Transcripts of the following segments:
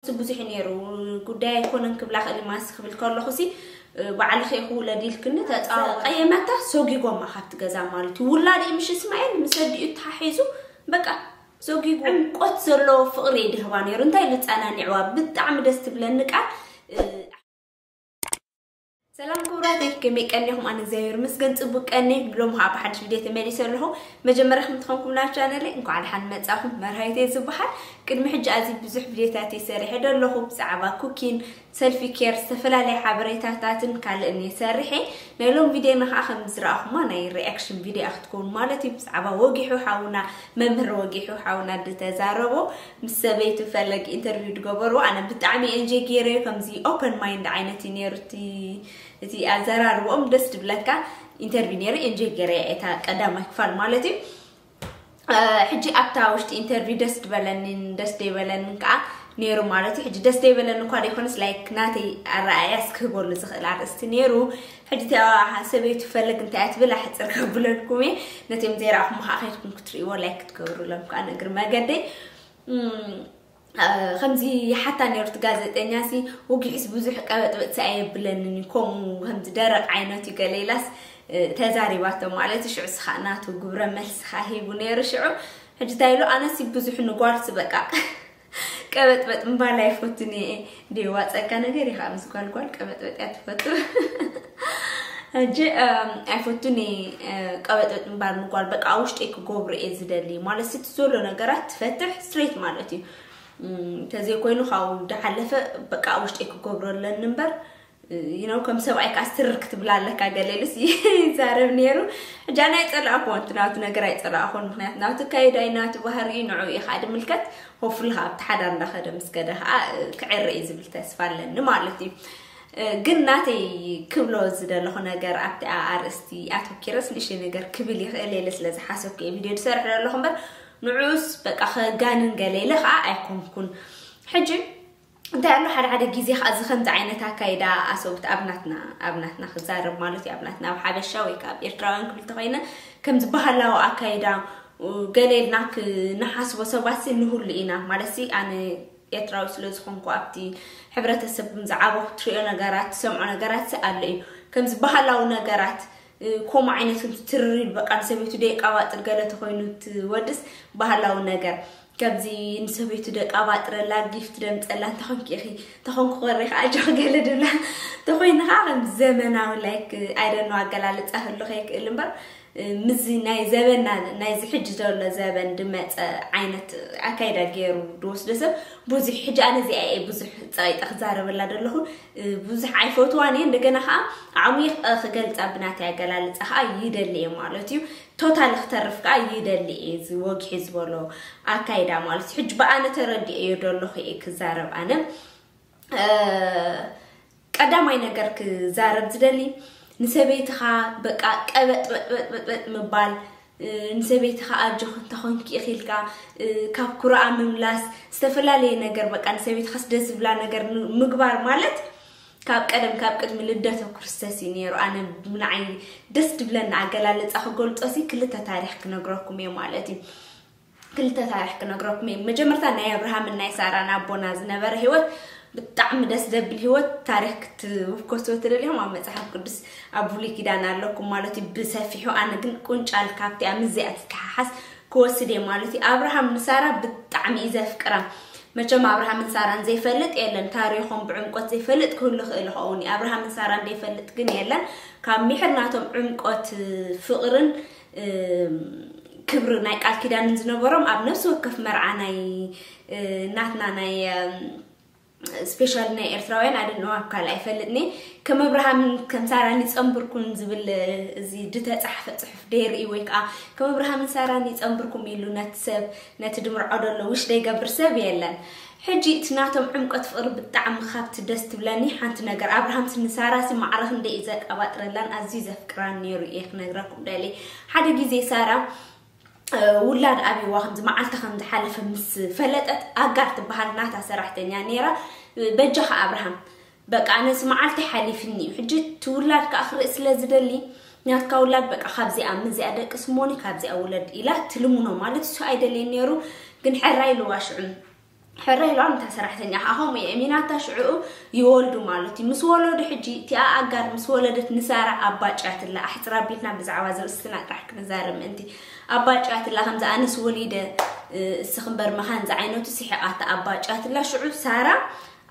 ብዙሕ ነይሩ። ጉዳይ ኣይኮነን ክብላ ክእል ማስ ክብል ከለኹ ሲ ባዕልኺ ክውለድ ኢልክኒ ተጻወ ቀየመታ። ሶጊጎማ ካብቲ ገዛ ማለት እዩ። ውላድ እዩ ምሽ እስማኤል ምስ ኣዲኡ ተሓሒዙ በቃ ሶጊጎ ዕምቆት ዘለዎ ፍቕሪ እዩ ድህባ ነይሩ። እንታይ ልጸናኒዕዋ ብጣዕሚ ደስ ትብለኒ ቃል። ሰላም ክቡራተይ፣ ከመይ ቀኒኹም? ኣነ እግዚኣብሔር ይመስገን ጽቡቅ ቀኒ። ብሎም ኸዓ ብሓድሽ ቪድዮ ተመሊሰ ኣለኹ። መጀመርያ ከም ትኾንኩም ናብ ቻነለይ እንኳዕ ደሓን መጻኹም። መርሃይተይ ዝበሃል ቅድሚ ሕጂ ኣዚ ብዙሕ ቪድዮታት ይሰርሐ ደለኹ ብዛዕባ ኩኪን፣ ሰልፊ ኬር፣ ዝተፈላለየ ሓበሬታታትን ካልእን ይሰርሐ። ናይ ሎም ቪድዮና ኸዓ ከም ዝረኣኹማ ናይ ሪኣክሽን ቪድዮ ክትከውን ማለት እዩ። ብዛዕባ ወጊሑ ሓውና፣ መምህር ወጊሑ ሓውና ዝተዛረቦ ምስ ሰበይቱ ፈለግ ኢንተርቪው ዝገበርዎ ኣነ ብጣዕሚ ኤንጆይ ገይረዮ። ከምዚ ኦፐን ማይንድ ዓይነት እዩ ነይሩ እቲ እቲ ኣዘራርቦኦም ደስ ድብለካ። ኢንተርቪው ነይሩ ኤንጆይ ገይረዮ እታ ቀዳማይ ክፋል ማለት እዩ። ሕጂ ኣብታ ውሽጢ ኢንተርቪው ደስ ድበለኒን ደስ ደይበለንን ከዓ ነይሩ ማለት እዩ። ሕጂ ደስ ደይበለኒ እኳ ደይኮነስ ላይክ ናተይ ኣረኣእያ ስክህበሉ ዝኽእል ኣርእስቲ ነይሩ። ሕጂ እቲኣ ሰበይቱ ፈለግ እንታይ እያ ትብል ኣሕፅር ከብለልኩም እየ። ነቲኦም ዘይረኣኹም ከዓ ከይድኩም ክትርእይዎ ላይክ ክትገብሩሎም ከዓ ንእግሪ መገደይ ከምዚ ሓታ ነርት ጋዜጠኛ ሲ ወጊሕስ ብዙሕ ቀበጥበጥ ሲ ኣየብለንን እዩ። ከምኡ ከምዚ ደረቕ ዓይነት እዩ ገለ ኢላስ ተዛሪባቶ ማለት ሽዑ ስኻ ናቱ ግብረ መልስኻ ሂቡ ነይሩ። ሽዑ ሕጂ እንታይ ኢሉ ኣነሲ ብዙሕ ንጓልሲ በቃ ቀበጥበጥ ምባል ኣይፈቱን እየ። ደዋፀካ ነገር እዩ ከዓ ምስ ጓልጓል ቀበጥበጥ እያ ትፈቱ። ሕጂ ኣይፈቱን እየ ቀበጥበጥ ምባል ንጓል በቃ ውሽጢ ክገብሮ እየ ዝደሊ ማለት እቲ ዘሎ ነገራት ትፈትሕ ስትሬት ማለት እዩ። ተዘይኮይኑ ካብኡ ዝሓለፈ በቃ ውሽጢ ክገብሮ ኣለኒ እምበር you know ከም ሰብኣይ ከዓ ስትርክ ትብላ ኣለካ ገለ ኢሉስ ይዛረብ ነይሩ። ሕጂ ኣነ ኣይፀላእኩዎን እቲ ናቱ ነገር ኣይፀላእኩን ምክንያቱ ናቱ ካይዳ እዩ ናቱ ባህሪ እዩ ንዑ እዩ ከዓ ድምልከት። ሆፍሊ ከዓ ኣብቲ ሓዳር እንዳኸደ ምስ ከደ ከዓ ክዕረ እዩ ዝብል ተስፋ ኣለኒ ማለት እዩ። ግን ናተይ ክብሎ ዝደለኹ ነገር ኣብቲ ኣርእስቲ ኣተኪረስ ንእሽተይ ነገር ክብል ይኽእል ኢለ ስለ ዝሓሰብኩ እየ ቪድዮ ዝሰርሕ ዘለኹ እምበር ንዑስ በቃ ከጋንን ገለ ኢለ ከዓ ኣይኮንኩን። ሕጂ እንታይ ኣሎ ሓደ ሓደ ግዜ ከዓ እዚ ከምዚ ዓይነት ኣካይዳ ኣሰብት ኣብ ናትና ኣብ ናትና ክዛረብ ማለት እዩ ኣብ ናትና ኣብ ሓበሻ ወይ ከዓ ኣብ ኤርትራውያን ክብል ተኮይነ ከምዚ ባህላዊ ኣካይዳ ገለ ኢልና ክንሓስቦ ሰባት ንህሉ ኢና ማለት ኣነ ኤርትራዊ ስለ ዝኾንኩ ኣብቲ ሕብረተሰብ ዝዓበኹ ትሪኦ ነገራት ትሰምዖ ነገራት ኣሎ እዩ። ከምዚ ባህላዊ ነገራት ከምኡ ዓይነት ትርሪድ በቃ ንሰበይቱ ደይቃባጥር ገለ ተኮይኑ ትወድስ ባህላዊ ነገር ከምዚ ንሰበይቱ ደቃባጥረላ ጊፍት ደምፀላ እንተኾንኪ ኢኺ ተኾንኩ ኮሪ ከዓ ጆኽ ገለ ድብላ ተኮይኑ ከዓ ከም ዘመናዊ ላይክ ኣይደኖ ኣገላልፃ ህሉ ከይክእል እምበር ምዚ ናይ ዘበና ናይዚ ሕጂ ዘሎ ዘበን ድመፀ ዓይነት ኣካይዳ ገይሩ ድወስዶ ሰብ ብዙሕ ሕጂ ኣነ እዚኣ እየ ብዙሕ ፀቂጠ ክዛረበላ ዘለኹ። ብዙሕ ኣይፈትዋን እየ እንደገና ከዓ ኣዕሚቕ ክገልፃ ብናተይ ኣገላልፃ ከዓ ይደሊ እየ ማለት እዩ። ቶታል ክተርፍ ከዓ ይደሊ እየ እዚ ወግሒ ዝበሎ ኣካይዳ ማለት እዩ። ሕጂ ብኣነ ተረዲኦ እየ ደለኹ እየ ክዛረብ ኣነ ቀዳማይ ነገር ክዛረብ ዝደሊ ንሰበይትኻ በቃ ቀበጥበጥበጥበጥ ምባል ንሰበይትኻ ኣጆኽ እንተኾንኪ ኢኺልካ ካብ ኩርኣ ምምላስ ዝተፈላለየ ነገር በቃ ንሰበይትኻስ ደስ ዝብላ ነገር ምግባር ማለት ካብ ቀደም ካብ ቅድሚ ልደተ ክርስቶስ እዩ ነይሩ። ኣነ ብንዓይ ደስ ድብለና ኣገላለፃ ክገልፆ ሲ ክልተ ታሪክ ክነግረኩም እየ ማለት እዩ። ክልተ ታሪክ ክነግረኩም እየ። መጀመርታ ናይ ኣብርሃምን ናይ ሳራን ኣቦና ዝነበረ ህይወት ብጣዕሚ ደስ ዘብል ህይወት ታሪክ ክትውከስዎ ትደልዮም ኣብ መፅሓፍ ቅዱስ ኣብ ብሉይ ኪዳን ኣለኩም ማለት እዩ ብሰፊሑ። ኣነ ግን ቁንጫል ካብቲኣ ምዚኣ ትተሓሓስ ክወስድ እየ ማለት እዩ። ኣብርሃም ንሳራ ብጣዕሚ እዩ ዘፍቅራ። መቸም ኣብርሃምን ሳራን ዘይፈልጥ የለን። ታሪኾም ብዕምቆት ዘይፈልጥ ክህሉ ክእል ይኸውን እዩ። ኣብርሃምን ሳራን ዘይፈልጥ ግን የለን። ካብ ሚሕር ናቶም ዕምቆት ፍቕርን ክብሪ ናይ ቃል ኪዳንን ዝነበሮም ኣብ ነፍሲ ወከፍ መርዓ ናይ ናትና ናይ ስፔሻል ናይ ኤርትራውያን ኣደንዋ ኣብ ካልእ ኣይፈልጥኒ። ከም ኣብርሃምን ከም ሳራን ይጸንብርኩን ዝብል እዚ ዝተጻሕፈ ጽሑፍ ደይርኢ ወይ ከዓ ከም ኣብርሃምን ሳራን ይጸንብርኩም ኢሉ ነቲ ሰብ ነቲ ድምርዖ ደሎ ውሽ ደይገብር ሰብ የለን። ሕጂ እቲ ናቶም ዕምቆት ፍቕሪ ብጣዕሚ ካብቲ ደስ ትብለኒ ሓንቲ ነገር ኣብርሃምሲ ንሳራሲ ማዕረ ክንደይ እዩ ዘቀባጥረላን ኣዝዩ ዘፍቅራን ነይሩ እየ ክነግረኩም ደሊ። ሓደ ግዜ ሳራ ውላድ ኣብይዋ ከምዚ መዓልቲ ከም ዝሓለፈ ምስ ፈለጠት ኣጋር ትበሃል ናታ ሰራሕተኛ ነይራ። በጃኻ ኣብርሃም በቃ ኣነስ መዓልቲ ሓሊፍኒ እዩ ሕጂ እቲ ውላድ ከዓ ክርኢ ስለ ዝደሊ ናትካ ውላድ በቃ ካብዚኣ ምዚኣ ደቂ ስሞኒ ካብዚኣ ውለድ ኢላ ትልምኖ ማለት እሱ ኣይደልየን ነይሩ። ግን ሕራይ ኢልዋ ሽዑ ሕረ ኢልዋ፣ እታ ሰራሕተኛ ከዓ ከምኡ እየ። ሚናታ ሽዕኡ ይወልዱ ማለት እዩ። ምስ ወለዱ ሕጂ እቲኣ ኣጋር ምስ ወለደት ንሳራ ኣባጭያትላ። ኣሕፅር ኣቢልና ብዛዕባ ዝርእስትና ጥራሕ ክንዛረብ ምእንቲ። ኣባጭያትላ ከምዚ ኣነስ ወሊደ፣ እ፣ እስኺ እምበር መኻን ዝዓይነቱ ስሒቓታ ኣባጭያትላ። ሽዑ ሳራ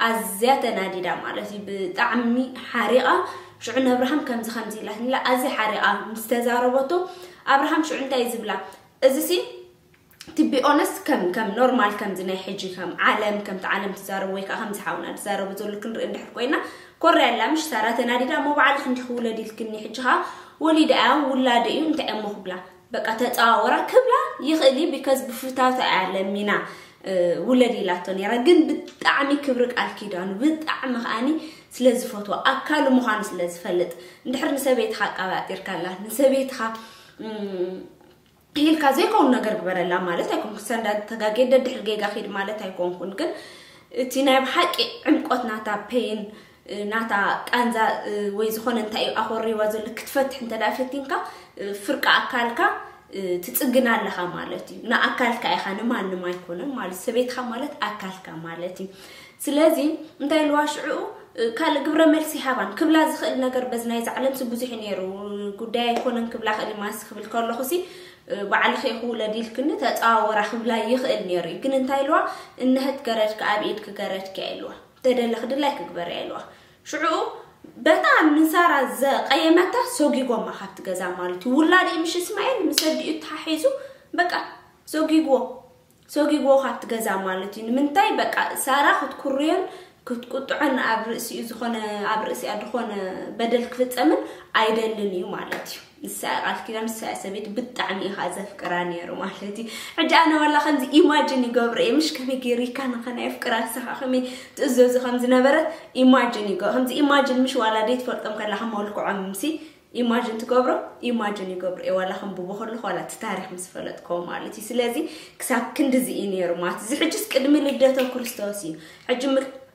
ኣዝያ ተናዲዳ ማለት እዩ። ብጣዕሚ ሓሪቓ። ሽዑ ንኣብርሃም ከምዚ ከምዚ ኢላትላ ኣዝያ ሓሪቓ ምስ ተዛረበቶ፣ ኣብርሃም ሽዑ እንታይ እዩ ዝብላ? እዚሲ to be honest ከም ከም ኖርማል ከምዚ ናይ ሕጂ ከም ዓለም ከምቲ ዓለም ትዛረቡ ወይ ከዓ ከምዚ ሓውና ትዛረቡ ዘሎ ክንርኢ እንድሕር ኮይና፣ ኮርያ ኣላ ምሽ ሳራ ተናዲዳ፣ እሞ ባዕልኺ እንዲኺ ውለድ ኢልክኒ፣ ሕጂ ከዓ ወሊዳ እያ፣ ውላደ እዩ፣ እንታይ እሞ ክብላ? በቃ ተፀዋወራ ክብላ ይኽእል እዩ። ቢካዝ ብፍታውታ እያ ለሚና፣ እ፣ ውለድ ኢላቶ ነይራ። ግን ብጣዕሚ ክብሪ ቃል ኪዳኑ ብጣዕሚ ከዓኒ ስለ ዝፈትዋ፣ ኣካሉ ምዃኑ ስለ ዝፈልጥ፣ እንድሕር ንሰበይትኻ ኣቃባጢርካላ፣ ንሰበይትኻ፣ እም፣ ኢልካ ዘይከውን ነገር ግበረላ ማለት ኣይኮንኩን። ክሳንዳ ተጋጌ ደድሕር ጌጋ ኺድ ማለት ኣይኮንኩን። ግን እቲ ናይ ብሓቂ ዕምቆት ናታ ፔን፣ ናታ ቃንዛ፣ ወይ ዝኾነ እንታይ እዩ ኣኾሪዋ ዘሎ ክትፈትሕ እንተ ደኣ ፈቲንካ፣ ፍርቂ ኣካልካ ትጽግና ኣለኻ ማለት እዩ። ንኣካልካ ኢኻ፣ ንማንም ኣይኮነን ማለት። ሰበይትኻ ማለት ኣካልካ ማለት እዩ። ስለዚ እንታይ ኢልዋ ሽዑ፣ ካልእ ግብረ መልሲ ሃባን ክብላ ዝኽእል ነገር በዚ ናይዚ ዓለምሲ ብዙሕ እዩ ነይሩ። ጉዳይ ኣይኮነን ክብላ ክእል ማስ ክብል ከለኹሲ፣ ባዕልኺ ኢኺ ውለድ ኢልክኒ ተጻዋወራ ክብላ ይኽእል ነይሩ እዩ። ግን እንታይ ኢልዋ፣ እነሀት ገረድኪ ኣብ ኢድኪ ገረድኪ እያ ኢልዋ። ተደለኺ ድላይኪ ግበሪ እያ ኢልዋ። ሽዑ በታ ንሳራ ዘቐየመታ ሰጊጎማ ካብቲ ገዛ ማለት እዩ። ውላድ እዩ ምሽ እስማኤል ምስ ኣዲኡ ተሓሒዙ በቃ ሰጊግዎ፣ ሰጊግዎ ካብቲ ገዛ ማለት እዩ። ንምንታይ በቃ ሳራ ክትኩርዮን ክትቁጥዖን ኣብ ርእሲኡ ዝኾነ፣ ኣብ ርእሲኣ ዝኾነ በደል ክፍጸምን ኣይደልን እዩ ማለት እዩ። ንሳ ቃል ኪዳን፣ ንሳ ሰበይቲ ብጣዕሚ ኢኻ ዘፍቅራ ነይሩ ማለት እዩ። ሕጂ ኣነ ዋላ ከምዚ ኢማጂን ይገብሮ እየ፣ ምሽ ከመይ ገይሩ ይካ ንኸና የፍቅራ፣ ንሳ ከመይ ትእዘዙ ከም ዝነበረት ኢማጂን ይገብሮ። ከምዚ ኢማጂን ምሽ ዋላ ደይ ትፈልጦም ከለኻ መልክዖም ምሲ ኢማጂን ትገብሮ፣ ኢማጂን ይገብሮ እየ። ዋላ ከም ብቦ ከለኹ ዋላ እቲ ታሪኽ ምስ ፈለጥኮ ማለት እዩ። ስለዚ ክሳብ ክንድዚ እዩ ነይሩ ማለት እዚ። ሕጅስ ቅድሚ ልደተ ክርስቶስ እዩ። ሕጂ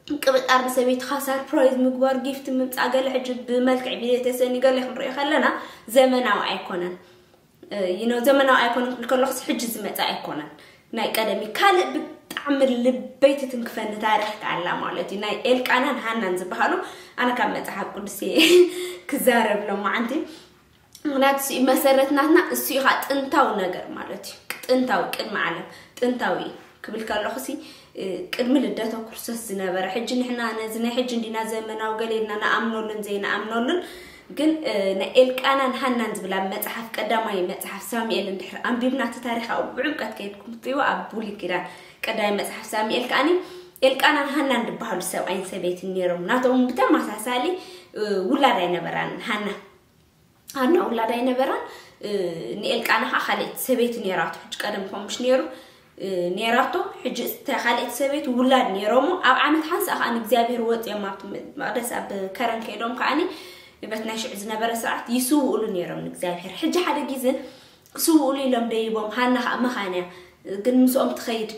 ምቅብጣር ንሰበይትኻ ሰርፕራይዝ ምግባር፣ ጊፍት ምምጻእ፣ ገለ ሕጂ ብመልክዕ ቪድዮ ተሰኒ ገለ ክንሪኦ ከለና ዘመናዊ ኣይኮነን። ዩ ኖ፣ ዘመናዊ ኣይኮነን ክብል ከለኹስ ሕጂ ዝመጽእ ኣይኮነን። ናይ ቀደሚ ካልእ ብጣዕሚ ልበይ ትትንክፈኒ ታሪኽ ከኣላ ማለት እዩ። ናይ ኤልቃናን ሃናን ዝበሃሉ ኣነ ካብ መጽሓፍ ቅዱስ እየ ክዛረብ ሎማዓንቲ። ምክንያቱ እሱ እዩ መሰረት ናትና፣ እሱ እዩ ከዓ ጥንታዊ ነገር ማለት እዩ። ጥንታዊ፣ ቅድሚ ዓለም ጥንታዊ እዩ ክብል ከለኹ ሲ፣ እ፣ ቅድሚ ልደተ ክርስቶስ ዝነበረ፣ ሕጂ ንሕና ነዚ ናይ ሕጂ እንዲና ዘመናዊ ገለ ኢልና ንኣምነሉን ዘይንኣምነሉን፣ ግን፣ እ፣ ናይ ኤልቃናን ሃናን ዝብል ኣብ መጽሓፍ፣ ቀዳማይ መጽሓፍ ሳሙኤል እንድሕር ኣንቢብና፣ እቲ ታሪኽ ኣብኡ ብዕምቀት ከይድኩም ትሪእዎ፣ ኣብ ብሉይ ኪዳን ቀዳማይ መጽሓፍ ሳሙኤል ከዓኒ ኤልቃናን ሃናን ዝበሃሉ ሰብኣይን ሰበይትን ነይሮም። ናቶም ብተመሳሳሊ፣ እ፣ ውላድ ኣይነበራን ሃና። ሃና ውላድ ኣይነበራን። እ፣ ንኤልቃና ኸዓ ካልኣይቲ ሰበይቲ ነይራቶ። ሕጂ ቀደም ከምኡ ምሽ ነይሩ፣ እ፣ ነይራቶ። ሕጂ እታ ካልኣይቲ ሰበይቲ ውላድ ነይሮሞ። ኣብ ዓመት ሓንሳእ ኸዓ ንእግዚኣብሔር ወፂኦም ኣብቲ ም-፣ መቕደስ ኣብ ከረን ከይዶም ከዓኒ በቲ ናይ ሽዑ ዝነበረ ስርዓት ይስውኡሉ ነይሮም ንእግዚኣብሔር። ሕጂ ሓደ ግዜ ክስውኡሉ ኢሎም ደይቦም፣ ሃና ኸዓ መኻን እያ፣ ግን ምስኦም ትኸይድ።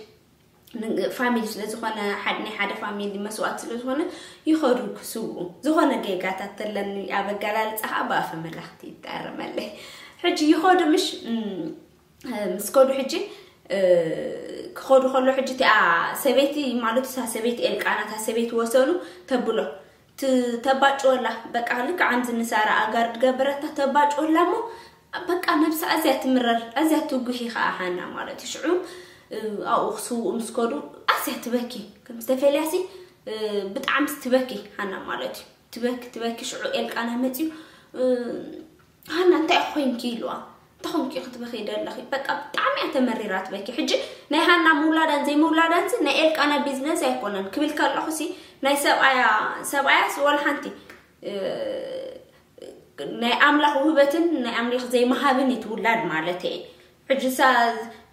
ን-፣ ፋሚሊ ስለ ዝኾነ፣ ሓደ፣ ናይ ሓደ ፋሚሊ መስዋእቲ ስለ ዝኾነ፣ ይኸዱ ክስውኡ። ዝኾነ ጌጋታት ተለኒ ኣብ ኣገላልጻ ኸዓ ብኣፈ መላኽቲ ይታረመለይ። ሕጂ ይኸዱ ምሽ፣ እም፣ ምስ ከዱ ሕጂ፣ እ፣ ክኸዱ ከሎ ሕጂ እቲኣ ሰበይቲ፣ ማለት እታ ሰበይቲ ኤልቃና፣ እታ ሰበይቲ ወሰኑ ተብሎ። ት-፣ ተባጭወላ። በቃ ልክዕ ኣምዚ ንሳራ ኣጋር ድገብረታ ተባጭወላ እሞ በቃ ነብሳ ኣዝያ ትምረር፣ ኣዝያ ትጉሂ ኸዓ ሃና ማለት እዩ። ሽዑ፣ እ፣ ኣብኡ ክስውኡ ምስ ከዱ ኣዝያ ትበኪ። ከም ዝተፈልያሲ፣ እ፣ ብጣዕሚ ትበኪ ሃና ማለት እዩ። ትበኪ፣ ትበኪ። ሽዑ ኤልቃና መፅዩ፣ እ፣ ሃና እንታይ ኮይንኪ ኢልዋ። እንታይ ኾንኪ ክትበኺ ደለኺ? በቃ ብጣዕሚ እያ ተመሪራ ትበኪ። ሕጂ ናይ ሃና ምውላዳን ዘይምውላዳንሲ ናይ ኤልቃና ቢዝነስ ኣይኮነን ክብል ከለኹሲ ናይ ሰብኣያ፣ ሰብኣያስ ወላ ሓንቲ፣ እ፣ ናይ ኣምላኽ ውህበትን ናይ ኣምላኽ ዘይምሃብን እዩ ትውላድ ማለት እየ። ሕጂ ሳ-፣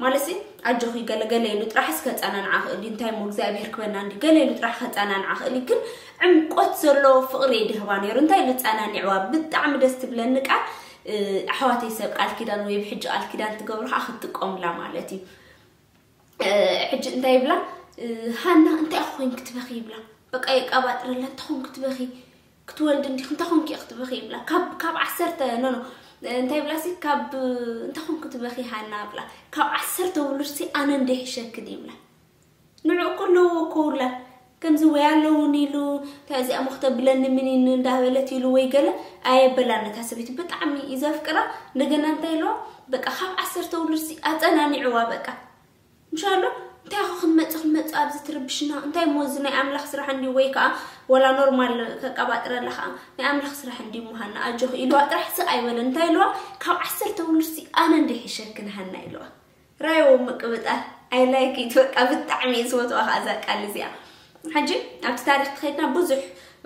ማለትሲ ኣጆኺ ገለ ገለ ኢሉ ጥራሕ እስከ ጸናንዓ ክእል እዩ። እንታይ እሞ እግዚኣብሔር ክበና እንዲ ገለ ኢሉ ጥራሕ ከጸናንዓ ክእል እዩ። ግን ዕምቆት ዘለዎ ፍቕሪ እዩ ድህባ ነይሩ። እንታይ ኢሉ ጸናኒዕዋ? ብጣዕሚ ደስ ትብለኒ ቃል፣ እ፣ ኣሕዋተይ ሰብ ቃል ኪዳን ወይ ብሕጂ ቃል ኪዳን ትገብሩ ከዓ ክትጥቀሙላ ማለት እዩ። እ፣ ሕጂ እንታይ ይብላ? እ፣ ሃና እንታይ ኮንኪ ትበኺ ይብላ። በቃ የቃባጥረላ፣ እንታይ ኮንኪ ትበኺ? ክትወልዲ እንዲኺ፣ እንታይ ኮንኪ ኢኺ ትበኺ ይብላ። ካብ፣ ካብ ዓሰርተ፣ ኖ፣ ኖ፣ እንታይ ይብላ ሲ፣ ካብ፣ እንታይ ኮንኪ ትበኺ ሃና ይብላ። ካብ ዓሰርተ ውሉድሲ ኣነ እንደ ይሕሸክን ይብላ። ንዑ እኮ ኣለዎ እኮ ውላ ከምዚ ወይ ኣለውን ኢሉ እንታይ እዚኣ ሞ ክተብለኒ ምን ኢኒ እንዳበለት ኢሉ ወይ ገለ ኣየበላን። ነታ ሰበይቲ ብጣዕሚ እዩ ዘፍቅራ። እንደገና እንታይ ኢልዋ በቃ ካብ ዓሰርተ ውሉድሲ ኣጸናኒዕዋ በቃ ምሻሎ እንታይ ኹ ክንመጽእ ክንመጽእ ኣብዚ ትርብሽና እንታይ ሞ እዚ ናይ ኣምላኽ ስራሕ እንዲ ወይ ከዓ ወላ ኖርማል ከቀባጥረላ ከዓ ናይ ኣምላኽ ስራሕ እንዲ ምሃና ኣጆኽ ኢልዋ ጥራሕ ስቕ ኣይበለን። እንታይ ኢልዋ ካብ ዓሰርተ ውሉድሲ ኣነ እንዲ ሒሸክን ሃና ኢልዋ። ራይዎ ምቅብጣር I like it በቃ ብጣዕሚ እየ ዝፈትዋ ከዓ እዛ ቃል እዚኣ። ሕጂ ኣብቲ ታሪክ ትኸድና ብዙሕ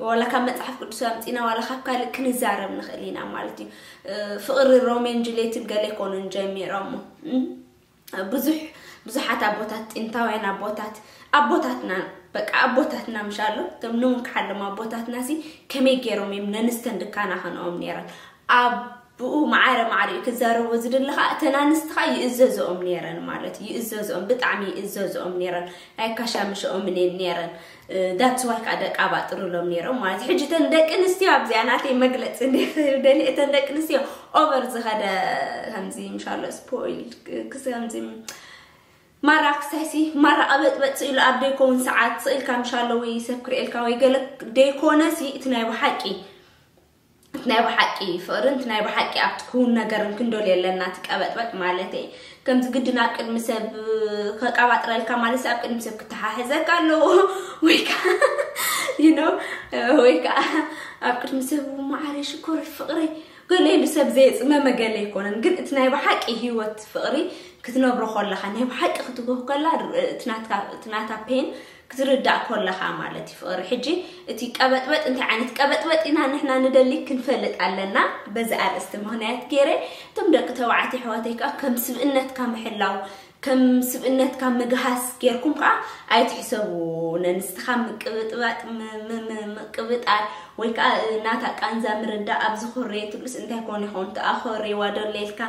ዋላ ካብ መፅሓፍ ቅዱስ ኣምፂና ዋላ ካብ ካልእ ክንዛረብ ንኽእል ኢና ማለት እዩ። ፍቅሪ ሮሜን ጁሌትን ገለ ኣይኮኑን ጀሚሮሞ ብዙሕ ብዙሓት ኣቦታት ጥንታውያን ኣቦታት ኣቦታትና በቃ ኣቦታትና ምሻሎ እቶም ንውን ክሓሎም ኣቦታትና ሲ ከመይ ገይሮም እዮም ነንስተን ድካና ከንኦም ነይረን ኣብኡ ማዕረ ማዕሪኡ ክዛረቦ ዝድሊ ከዓ እተን ኣንስቲ ከዓ ይእዘዝኦም ነይረን ማለት እዩ። ይእዘዝኦም ብጣዕሚ ይእዘዝኦም ነይረን። ኣይካሻምሸኦምን እየን ነይረን። ዳትስ ዋይ ከዓ ደቂ ኣባጥርሎም ነይሮም ማለት እዩ። ሕጂ እተን ደቂ ኣንስትዮ ኣብዚኣ ናተይ መግለፂ ደሊ እተን ደቂ ኣንስትዮ ኦቨር ዝኸደ ከምዚ ምሻሎ ስፖይል ክስ ከምዚ ማራ ክሳይሲ ማራ ቀበጥበጥ ስኢሉ ኣብ ደይኮውን ሰዓት ስኢልካ ምሻሎ ወይ ሰብ ክርእልካ ወይ ገለ ደይኮነሲ እቲ ናይ ብሓቂ ናይ ብሓቂ ፍቕርን ናይ ብሓቂ ኣብቲ ክውን ነገርን ክንደልዮ ኣለና። እቲ ቀበጥበጥ ማለት እየ ከምዚ ግድን ኣብ ቅድሚ ሰብ ከቃባጥረልካ ማለት ኣብ ቅድሚ ሰብ ክተሓሕዘካ ኣለዎ ወይ ከዓ you know ወይ ከዓ ኣብ ቅድሚ ሰብ ማዕረ ሽኮር ፍቕረይ ገለ ኢሉ ሰብ ዘየፅመመ ገለ ኣይኮነን። ግን እቲ ናይ ብሓቂ ህይወት ፍቕሪ ክትነብሮ ከለኻ ናይ ብሓቂ ክትጎህ ከላ እቲ ናታ ፔን ክትርዳእ ከለኻ ማለት እዩ ፍቕሪ። ሕጂ እቲ ቀበጥበጥ እንታይ ዓይነት ቀበጥበጥ ኢና ንሕና ንደሊ ክንፈልጥ ኣለና። በዚ ኣርእስቲ ምኽንያት ገይረ እቶም ደቂ ተባዕትዮ ኣሕዋተይ ከዓ ከም ስብእነትካ ምሕላው ከም ስብእነትካ ምግሃስ ጌርኩም ከዓ ኣይትሕሰቡ። ነንስትኻ ምቅብጥባጥ ምቅብጣር ወይ ከዓ ናታ ቃንዛ ምርዳእ ኣብዚ ኮሬ ትብልስ እንታይ ኮን ይኸውን ተኣኸሬዋ ደለይልካ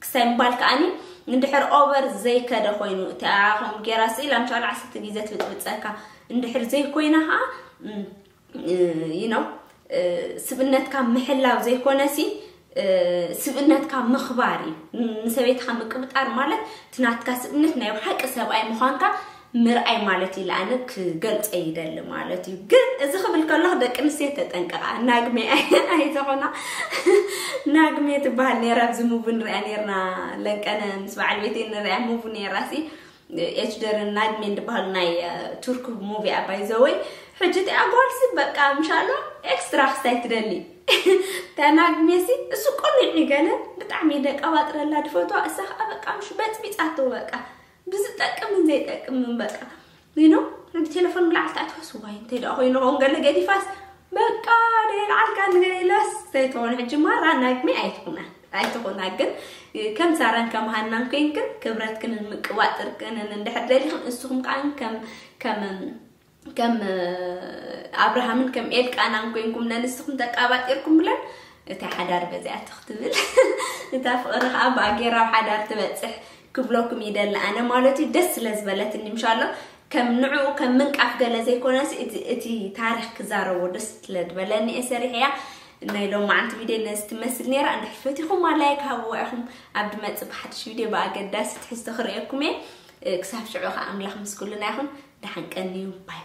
ክሳይ ምባል ከዓኒ እንድሕር ኦቨር ዘይከደ ኮይኑ እቲኣ ከም ጌራ ስኢል ኣምሻሉ ዓሰርተ ግዜ ትብጥብፀካ እንድሕር ዘይኮይና ከዓ you know ስብእነትካ ምሕላው ዘይኮነሲ ስብእነትካ ምኽባር እዩ። ንሰበይትካ ምቅብጣር ማለት እቲ ናትካ ስብእነት ናይ ብሓቂ ሰብኣይ ምዃንካ ምርኣይ ማለት እዩ። ለኣነ ክገልፀ ይደሊ ማለት እዩ። ግን እዚ ክብል ከለኹ ደቂ ኣንስትዮ ተጠንቀቃ ናግሜ ኣይትኾና ናግሜ ትበሃል ነይራ ኣብዚ ሙቪ ንሪኣ ነይርና ለንቀነ ምስ በዓል ቤተይ ንሪኣ ሙቪ ነይራ ሲ ኤችደርን ናግሜን ዝበሃሉ ናይ ቱርክ ሙቪ ኣባይ ዘወይ ሕጂ እቲኣ ጓልሲ በቃ ምሻሎ ኤክስትራ ክስታይ ትደሊ እታ ናግሜሲ እሱ ቆኒዕ ገለ ብጣዕሚ ደቀባጥረላ ድፈትዋ እሳ ከዓ በቃ ምሽ በፅቢፃቶ በቃ ብዝጠቅምን ዘይጠቅምን በቃ you know ቴሌፎን ብላዕሊ ታዕትወስ ዋይ እንታይ ደኣ ኮይኑ ኸውን ገለ ገዲፋስ በቃ ደየልዓልካ ንገለ ኢላስ ዘይትኾን ሕጂ ማራ ናግሜ ኣይትኹና ኣይትኾና ግን ከም ሳራን ከም ሃናን ኮይንክን ክብረትክንን ምቅባጥርክንን እንድሕር ደሊኽን እስኹም ከዓ ከም ከም ከም ኣብርሃምን ከም ኤልቃናን ኮይንኩም ነንስኹም ተቃባጢርኩም ብለን እታ ሓዳር በዚኣ ትኽትብል እታ ፍቕሪ ከዓ ብኣጌራዊ ሓዳር ትበፅሕ ክብለኩም ይደሊ ኣነ ማለት እዩ ደስ ስለ ዝበለትኒ ምሻሎ ከም ንዕኡ ከም ምንቃፍ ገለ ዘይኮነስ እቲ ታሪክ ክዛረቦ ደስ ስለ ዝበለኒ እየ ሰሪሐያ ናይ ሎማዓንቲ ቪድዮ ነዚ ትመስል ነይራ እንድሕር ፈቲኹማ ላይክ ሃብዋ ኢኹም ኣብ ድመፅእ ብሓድሽ ቪድዮ ብኣገዳሲ ትሕዝቶ ክርእየኩም እየ ክሳብ ሽዑ ከዓ ኣምላኽ ምስ ኩልና ይኹን ደሓን ቀንዩ ባይ